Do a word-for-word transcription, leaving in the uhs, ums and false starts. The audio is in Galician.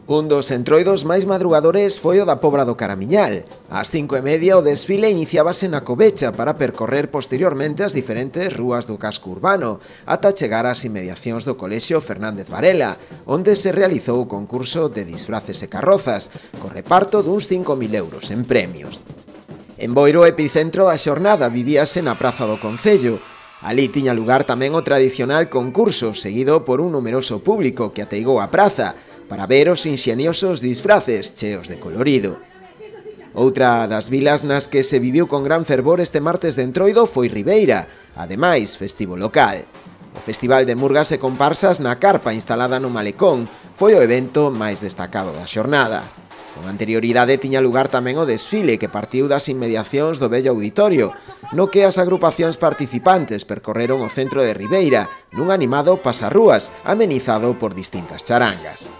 Un dos entroidos máis madrugadores foi o da Pobra do Caramiñal. Ás cinco e media o desfile iniciábase na Covecha para percorrer posteriormente as diferentes rúas do casco urbano, ata chegar ás inmediacións do Colexio Fernández Varela, onde se realizou o concurso de disfraces e carrozas, co reparto duns cinco mil euros en premios. En Boiro, epicentro da xornada, vivíase na Praza do Concello. Alí tiña lugar tamén o tradicional concurso, seguido por un numeroso público que ateigou a praza, para ver os inxeniosos disfraces cheos de colorido. Outra das vilas nas que se viviu con gran fervor este martes de Entroido foi Ribeira, ademais festivo local. O Festival de Murgas e Comparsas na carpa instalada no Malecón foi o evento máis destacado da xornada. Con anterioridade tiña lugar tamén o desfile que partiu das inmediacións do vello auditorio, no que as agrupacións participantes percorreron o centro de Ribeira nun animado pasarrúas amenizado por distintas charangas.